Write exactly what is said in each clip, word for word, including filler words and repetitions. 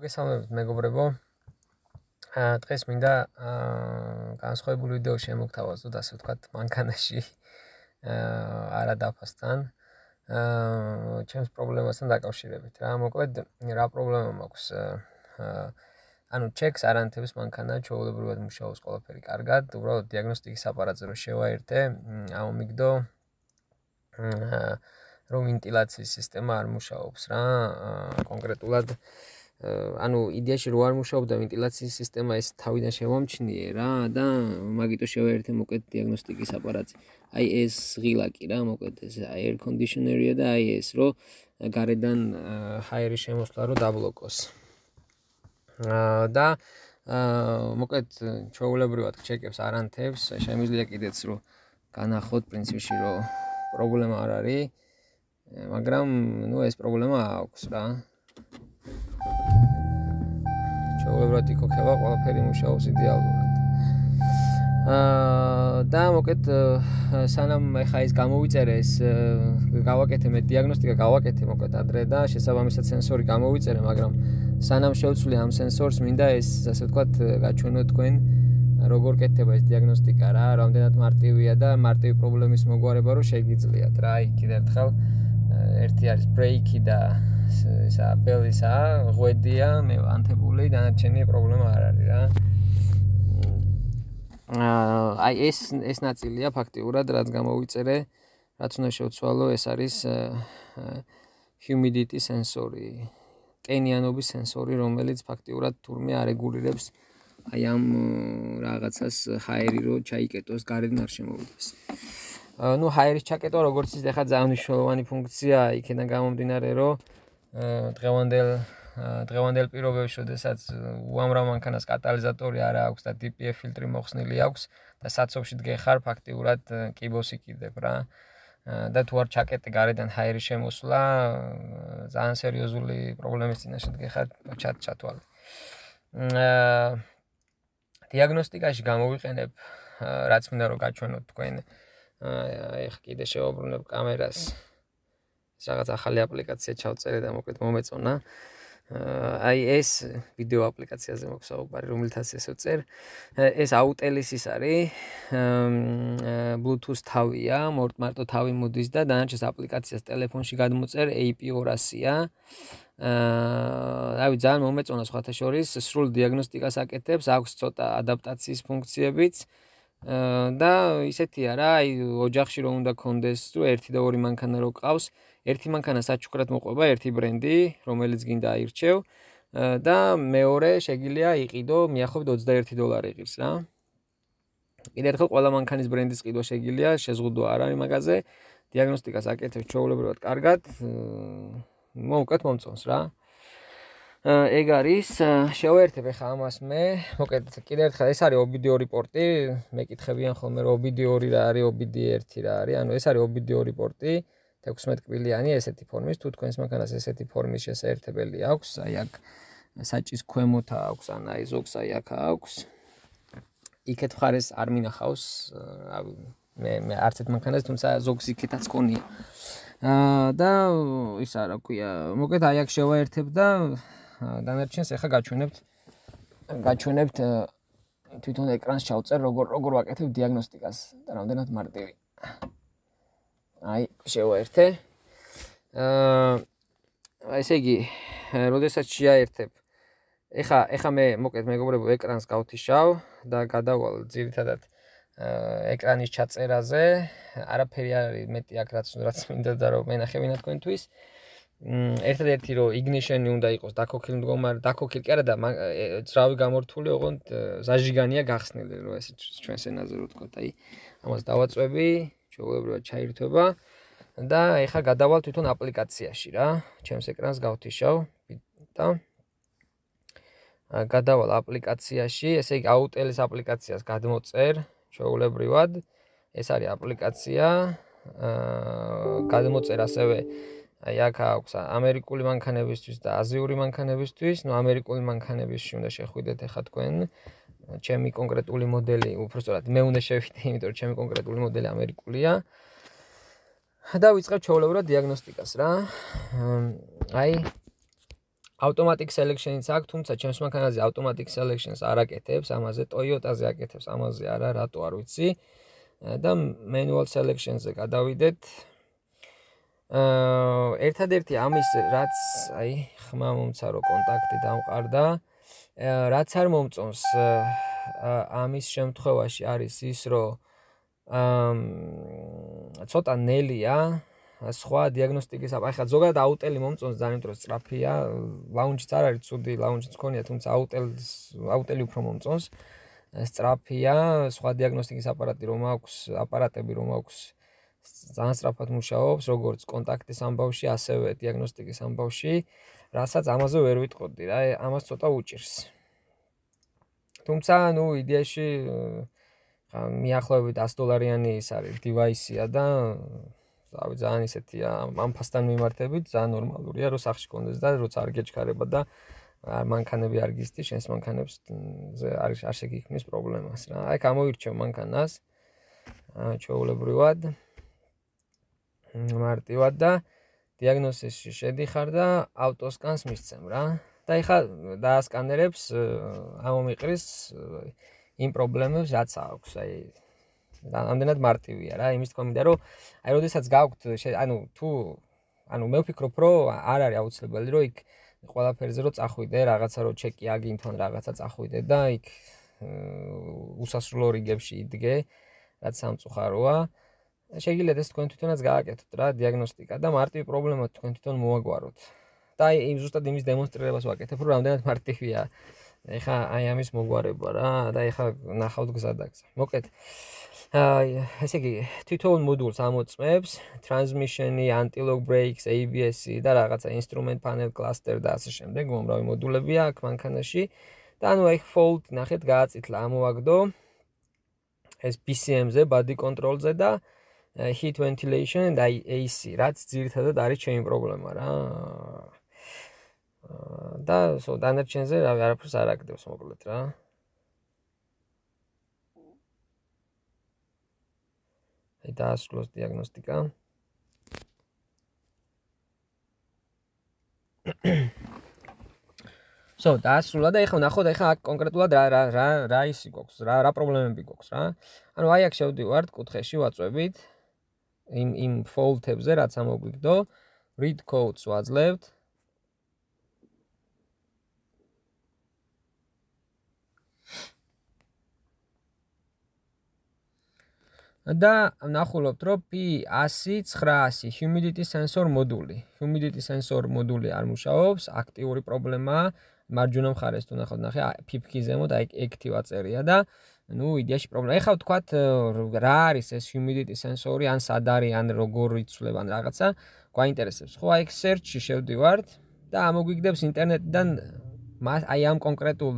მოგესალმებით მეგობრებო. დღეს მინდა განსხვავებული ვიდეო შემოგთავაზოთ, ასე ვთქვათ, მანქანაში არა დაფასთან. ჩემს პრობლემასთან დაკავშირებით რა. მოკლედ, რა პრობლემა მაქვს? ანუ ჩეკს არ ანთებს მანქანა, ჩვეულებრივად მუშაობს ყველაფერი კარგად, უბრალოდ დიაგნოსტიკის აპარატზე რო შევაერთე, ამომიგდო რომ ვენტილაციის სისტემა არ მუშაობს რა, კონკრეტულად ანუ იდეაში რო არ მუშაობდა ვენტილაციის სისტემა, ეს თავიდან შევამჩნიე რა და მაგიტო შევაერთე მოკლედ დიაგნოსტიკის აპარატზე. აი ეს ღილაკი რა, მოკლედ ეს air conditioner-ია და აი ეს რო გარედან ჰაერის შემოსვლა რო დაბლოკოს. და მოკლედ ჩვეულებრივად ჩეკებს არ ანთებს, შემიძლია კიდეც რო განახოთ პრინციპში რო პრობლემა არ არის, მაგრამ ნუ ეს პრობლემა აქვს რა. ჩვეულებრივად იქოქება ყველაფერი მუშაობს იდეალურად. და მოკლედ სანამ ეხა ის გამოვიწერე ეს გავაკეთე მე დიაგნოსტიკა გავაკეთე მოკლედ ადრე და შესაბამისად სენსორი გამოვიწერე, მაგრამ სანამ შევცვლი ამ სენსორს მინდა ეს ასე ვთქვათ გაჩვენო თქვენ როგორ კეთდება ეს დიაგნოსტიკა რა, რამდენად მარტივია და მარტივი პრობლემის მოგვარება რო შეგიძლიათ რა. აი კიდევ ერთხელ ერთი არის ბრეიკი და ისა ბელისა ღვედია, მე ანთებული, დანარჩენი პრობლემა არ არის რა. აი ეს ეს ნაწილია ფაქტიურად რაც გამოვიწერე, რაც უნდა შევცვალო, ეს არის humidity sensori, კენიანობის სენსორი, რომელიც ფაქტიურად თურმე არეგულირებს აი ამ რაღაცას ჰაერი რო ჩაიკეტოს გარედან არ შემოვიდეს. ნუ ჰაერის ჩაკეტვა როგორც ის ახლა ძალიან მნიშვნელოვანი ფუნქციაა, იქიდან გამომდინარე რომ დღევანდელ დღევანდელ პირობებში, შესაძაც უამრავ მანქანას კატალიზატორი არა აქვს და დი პი ეფ ფილტრი მოხსნილი აქვს და საცობში დგეხარ ფაქტიურად კიბოს იკიდებ რა. და თუ არ ჩაკეტე გარედან ჰაერის შემოსვლა, ძალიან სერიოზული პრობლემის წინაშე დგეხარ ჩათ ჩათვალე. დიაგნოსტიკაში გამოვიყენებ რაც მინდა რომ გაჩვენოთ თქვენ. ეხ კიდე შევაბრუნებ კამერას. ეს რაღაც ახალი აპლიკაცია ჩავწერე და მოკლედ მომეწონა. აი ეს ვიდეო აპლიკაციაზე მაქვს საუბარი, რომელთაც ესე ვწერ. ეს აუტელისის არის, Bluetooth თავია, მარტო თავი მოდის და დანარჩენს აპლიკაციას ტელეფონში გადმოწერ ეი პი ორასია. აი ძალიან მომეწონა სხვათა შორის, სრულ დიაგნოსტიკას აკეთებს, აქვს ცოტა ადაპტაციის ფუნქციებიც. და ისეთია რა, აი ოჯახში რომ უნდა კონდეს, თუ ერთი და ორი მანქანა რო ყავს, ერთი მანქანა საჩუქრად მოყვება, ერთი ბრენდი, რომელიც გინდა აირჩევ და მეორე შეგიძლია იყიდო, მიახლოებით ოცდაერთი დოლარი იყირს რა. კიდევ ერთხელ ყველა მანქანის ბრენდის ყიდვა შეგიძლია, შეზღუდვა არ არის მაგაზე. დიაგნოსტიკას აკეთებს ჩვეულებრივად კარგად. მოუკვეთ მომწონს რა. ეგ არის, შევაერთებ ახლა ამას მე, მოკლედ კიდევ ერთხელ ეს არის ო ბი დი ორი პორტი, მეკითხებიან ხოლმე რომ ო ბი დი ორი რა არის, ო ბი დი ერთი რა არის, ანუ ეს არის ო ბი დი ორი პორტი, თექვსმეტ კბილიანი ესეთი ფორმის, თუ თქვენს მანქანას ესეთი ფორმის შესაერთებელი აქვს, აი აქ საჭის ქვემოთ აქვს, ან აი ზოგს აი აქ აქვს. იქეთ მხარეს არ მინახავს, მე მე არც ერთ მანქანას, თუმცა ზოგს იქეთაც ქონია. და ისა რა ქვია, მოკლედ აი აქ შევაერთებ და დანარჩენს ახლა გაჩვენებთ გაჩვენებთ თვითონ ეკრანს ჩავწერ როგორ როგორ ვაკეთებ დიაგნოსტიკას და რამდენად მარტივი. აი შევაერთე. აა ესე იგი, როდესაც შეაერთებ, ეხა ეხა მე მოკლედ მეგობრებო ეკრანს გავთიშავ და გადავალ ძირითადად ეკრანის ჩაწერაზე, არაფერი არ არის მეტი აქ რაც რაც მინდა და რომ მენახებინა თქვენთვის. ერთადერთი რომ ignition-ი უნდა იყოს დაქოქილ მდგომარე, დაქოქილ კი არა და ძრავი გამორთული, ოღონდ ზაჟიგანია გახსნილი, რომ ესე ჩვენს ენაზე რო ვთქვათ, აი ამას დავაწვევი, ჩვეულებრივად ჩაირთვება და ეხა გადავალ თვითონ აპლიკაციაში რა. ჩემს ეკრანს გავთიშავ და გადავალ აპლიკაციაში, ესე იგი აუტელის აპლიკაციას გადმოწერ ჩვეულებრივად. ეს არის აპლიკაცია, გადმოწერ ასევე აი აქ აქვს ამერიკული მანქანებისთვის და აზიური მანქანებისთვის, ნუ ამერიკული მანქანებისთვის უნდა შეხვიდეთ ეხა თქვენ. ჩემი კონკრეტული მოდელი, უბრალოდ მე უნდა შევიდე, იმიტომ რომ ჩემი კონკრეტული მოდელი ამერიკულია. და ვიწყებ ჩვეულებრივად დიაგნოსტიკას რა. აი automatic selection-იც აქვს, თუმცა ჩემს მანქანაზე automatic selection-ს არ აკეთებს, ამაზე Toyota-ზე აკეთებს, ამაზე არა, რატო არ ვიცი. და manual selection-ზე გადავიდეთ. აა ერთადერთი ამის რაც აი ხმა მომცარო კონტაქტი დამყარდა, რაც არ მომწონს ამის შემთხვევაში არის ის, რომ აა ცოტა ნელია სხვა დიაგნოსტიკის აი ხა ზოგადად აუტელი მომწონს ძალიან დროს სწრაფია, ლაუნჯიც არ არის ცუდი, ლაუნჯიც მქონია, თუმცა აუტელს აუტელი უფრო მომწონს. სწრაფია, სხვა დიაგნოსტიკის აპარატი რომ აქვს, აპარატები რომ აქვს ძალიან სწრაფად მუშაობს, როგორც კონტაქტის ამბავში, ასევე დიაგნოსტიკის ამბავში, რასაც ამაზე ვერ ვიტყოდი რა, ამას ცოტა უჭირს. თუმცა, ნუ იდეაში ხა მიახლოებით ათი დოლარიანი ის არის დივაისია და რავი, ძალიან ისეთია, ამ ფასთან მიმართებით, ძალიან ნორმალურია, რომ სახში კონდეს და როცა არ გეჩქარება და მანქანები არ გისთი, შენს მანქანებს არის არ შეგიქმნის პრობლემას რა. აი, გამოირჩევ მანქანას ჩვეულებრივად, მარტივად და დიაგნოსისში შედიხარ და ავტოსკანს მისცემ რა. და ეხლა დაასკანერებს, ამომიყრის იმ პრობლემებს, რაც აქვს, აი ამდენად მარტივია რა, იმის თქმა მინდა, რომ აი როდესაც გაქვთ, ანუ თუ ანუ მე ვფიქრობ, რომ არ არის აუცილებელი, რომ იქ ყველაფერზე რომ წახვიდე, რაღაცა რომ ჩეკი აგინთონ, რაღაცა წახვიდე და იქ უსასრულო რიგებში იდგე, რაც სამწუხაროა. შეგიძლიათ ეს თქვენ თვითონაც გააკეთოთ რა, დიაგნოსტიკა და მარტივი პრობლემა თქვენ თვითონ მოაგვაროთ. და აი ზუსტად იმის დემონსტრირებას ვაკეთებ, რომ რამდენად მარტივია. ეხა აი ამის მოგვარება რა და ეხა ნახავთ გზადაგზა. მოკლედ აი ესე იგი თვითონ მოდულს ამოწმებს, transmission-ი, anti-lock brakes, A B S-ი და რაღაცა instrument panel cluster და ასე შემდეგ, უამრავი მოდულებია აქ მანქანაში. და ანუ აი fault ნახეთ გააწითლა, ამოვაგდო ეს B C M-ზე, body control-ზე და heat ventilation და A C, რაც ძირითადად არის ჩემი პრობლემა რა. და სო დანარჩენზე რავი არაფერს არ აკეთებს მოკლედ რა. აი დაასრულოს დიაგნოსტიკა. სო დაასრულა და ეხლა ნახოთ ეხლა აქ კონკრეტულად რა რა რა რა ისი გვაქვს, რა რა პრობლემები გვაქვს რა. ანუ აი აქ შევდივართ კუთხეში ვაწვევით იმ იმ fault-ებზე რაც ამოგვიგდო, read codes ვაძლევთ. და ნახულობთ, რომ P one hundred nine hundred humidity sensor მოდული. Humidity sensor მოდული არ მუშაობს, აქტიური პრობლემაა. მარჯვენა მხარეს თუ ნახავთ, ნახე, ფიფკი ზემოთ აი active აწერია და ნუ იდეაში პრობლემა. ეხლა ვთქვათ, რა არის ეს humidity sensor-ი, ან სად არის, ან როგორ იცვლება, ან რაღაცა, გვაინტერესებს. ხო, აი search-ში შევდივართ და ამოგვიგდებს ინტერნეტიდან აი ამ კონკრეტულ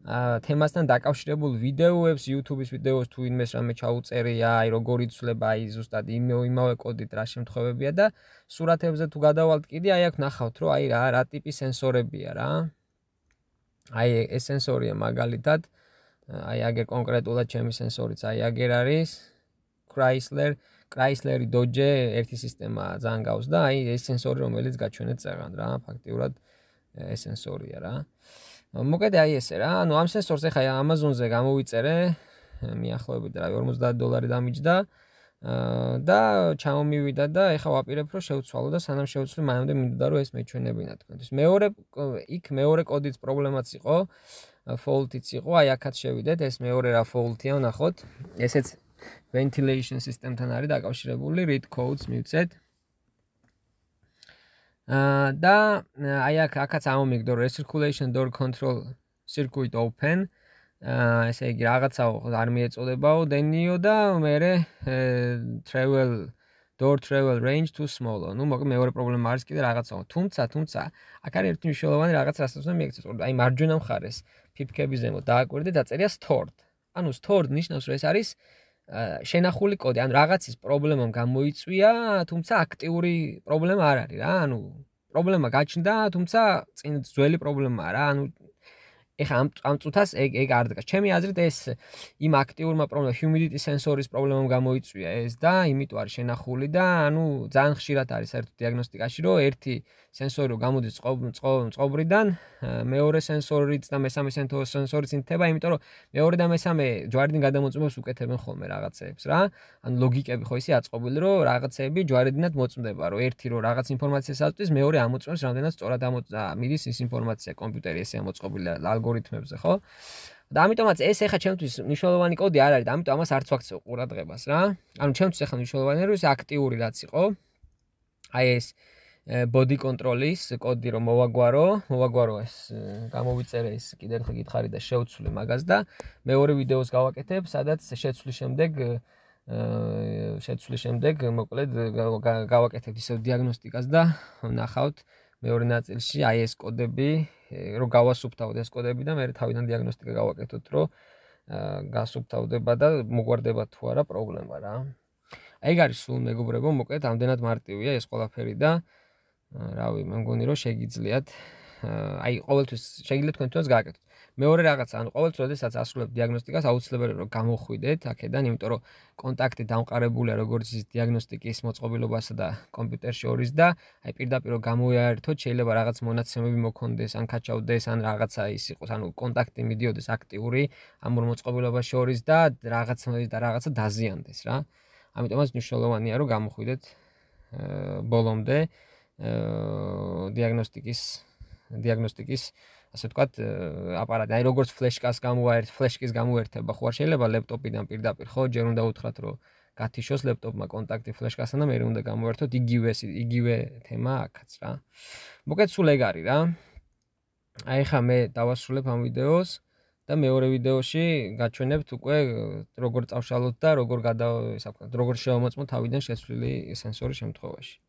თემასთან დაკავშირებულ ვიდეოებს, YouTube-ის ვიდეოს თუ ინმეს რამე ჩაუწერია, აი როგორ იცვლება, აი ზუსტად იმავე კოდით რა შემთხვევებია და სურათებზე თუ გადავალთ კიდე, აი აქ ნახავთ, რომ აი რა რა ტიპის სენსორებია რა. აი ეს სენსორია მაგალითად, აი აგერ კონკრეტულად ჩემი სენსორიც აი აგერ არის Chrysler, Chrysler-ი Dodge ერთი სისტემა ძალიან გავს და აი ეს სენსორი რომელიც გაჩვენეთ წეღან რა, ფაქტიურად ეს სენსორია რა. მოკლედ აი ესე რა, ანუ ამ სენსორს ახლა Amazon-ზე გამოვიწერე, მიახლოებით რა ორმოცდაათი დოლარი დამიჯდა და ჩამომივიდა და ახლა ვაპირებ რომ შევცვალო და სანამ შევცვლი მანამდე მინდოდა რომ ეს მეჩვენებინა თქვენთვის. მეორე იქ მეორე კოდიც პრობლემაც იყო, fault-იც იყო, აი აქაც შევიდეთ, ეს მეორე რა fault-ია, ნახოთ. ესეც ventilation system-თან არის დაკავშირებული, read codes მივცეთ. და აი აქ აქაც ამომიგდო recirculation door control circuit open. ესე იგი რაღაცაო არ მიეწოდებაო დენიო და მერე travel door travel range too small. ნუ მოკლედ მეორე პრობლემა არის კიდე რაღაცაო. თუმცა, თუმცა აქ არის ერთი მნიშვნელოვანი რაღაც, რასაც უნდა მიექცეთ. აი მარჯვენა მხარეს ფიფკების ზემოთ დააკვირდეთ, დაწერია stored. ანუ stored ნიშნავს, რომ ეს არის შენახული კოდი, ანუ რაღაცის პრობლემამ გამოიწვია, თუმცა აქტიური პრობლემა არ არის რა, ანუ პრობლემა გაჩნდა, თუმცა წინ ძველი პრობლემაა რა, ანუ ეხა ამ ამ წუთას ეგ ეგ არ დგას. ჩემი აზრით ეს იმ აქტიურმა პრობლემამ humidity sensor-ის პრობლემამ გამოიწვია ეს და იმიტომ არის შენახული და ანუ ძალიან ხშირად არის საერთოდ დიაგნოსტიკაში რომ ერთი სენსორი რომ გამოდის წყობრიდან, მეორე სენსორიც და მესამე სენსორიც ინთება, იმიტომ რომ მეორე და მესამე ჯვარედინ გადამოწმებს უკეთებენ ხოლმე რაღაცეებს რა. ანუ ლოგიკები ხო ისე აწყობილი რომ რაღაცეები ჯვარედინად მოწმდება, რომ ერთი რომ რაღაც ინფორმაციას აწვდის, მეორე ამოწმებს რამდენად სწორად მიდის ის ინფორმაცია კომპიუტერი ესე ამოწყობილი ალგორითმებზე, ხო? და ამიტომაც ეს ეხა ჩემთვის მნიშვნელოვანი კოდი არ არის და ამიტომ ამას არც ვაქცევ ყურადღებას რა. ანუ ჩემთვის ეხა მნიშვნელოვანია რომ ეს აქტიური რაც იყო. აი ეს body control-ის კოდი რომ მოვაგვარო, მოვაგვარო ეს გამოვიწერე ის კიდევ ერთხელ გითხარი და შევცვლი მაგას და მეორე ვიდეოს გავაკეთებ, სადაც შეცვლის შემდეგ შეცვლის შემდეგ მოკლედ გავაკეთებთ ისევ დიაგნოსტიკას და ნახავთ მეორე ნაწილში აი ეს კოდები რომ გავასუფთავოთ ეს კოდები და მე თავიდან დიაგნოსტიკა გავაკეთოთ რომ გასუფთავდება და მოგვარდება თუ არა პრობლემა რა. ეგ არის სულ მეგობრებო, მოკლედ ამდენად მარტივია ეს ყველაფერი და რავი, მე მგონი რომ შეგიძლიათ აი ყოველთვის შეგიძლიათ თქვენ თვითონაც გააკეთოთ. მეორე რაღაცა, ანუ ყოველთვის როდესაც ასრულებთ დიაგნოსტიკას, აუცილებელია რომ გამოხვიდეთ აქედან, იმიტომ რომ კონტაქტი დამყარებულია როგორც ის დიაგნოსტიკის მოწყობილობასა და კომპიუტერში შორის და აი პირდაპირ რომ გამოიაერთოთ, შეიძლება რაღაც მონაცემები მოქონდეს, ან კაჩავდეს, ან რაღაცა ის იყოს, ანუ კონტაქტი მიდიოდეს აქტიური ამ ორ მოწყობილობას შორის და რაღაც და რაღაცა დაზიანდეს რა. ამიტომაც მნიშვნელოვანია რომ გამოხვიდეთ ბოლომდე დიაგნოსტიკის დიაგნოსტიკის ასე ვთქვათ აპარატი. აი როგორც ფლეშკას გამოაერთ, ფლეშკის გამოერთება ხო არ შეიძლება ლეპტოპიდან პირდაპირ, ხო? ჯერ უნდა უთხრათ რომ გათიშოს ლეპტოპმა კონტაქტი ფლეშკასთან და მე უნდა გამოერთოთ იგივე იგივე თემა აქაც რა. მოკლედ სულ ეგ არის რა. აი ხა მე დავასრულებ ამ ვიდეოს და მეორე ვიდეოში გაჩვენებთ უკვე როგორ წავშალოთ და როგორ გადა, ისე ვთქვათ, როგორ შევამოწმოთ თავიდან შეცვლილი სენსორი შემთხვევაში.